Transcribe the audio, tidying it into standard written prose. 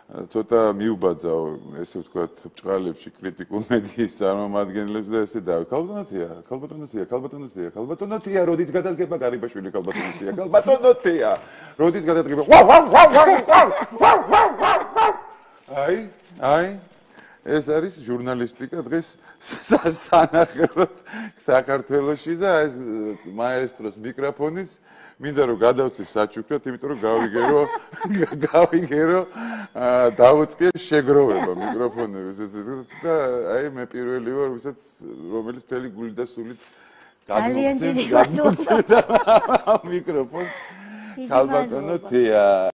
ცოტა მიუბაძავ, ესე ვთქვათ, ბჭყალებში კრიტიკულ მედიის წარმომადგენლებს და ესე და ქალბატონოთია, როდიც გადადგება გარიბაშვილი ქალბატონოთია, როდიც გადადგება. აი, ეს არის ჟურნალისტიკა დღეს სანახევროდ საქართველოში და ეს მაესტროს მიკროფონიც მინდა რომ გადავწი საჩუქრად, იმიტომ რომ გავიგერო დაუწყე შეგროვება მიკროფონების და აი მე პირველი ვარ, რომელიც მთელი გული და სულით გადმოგცემ მიკროფონს ქალბატონოთია.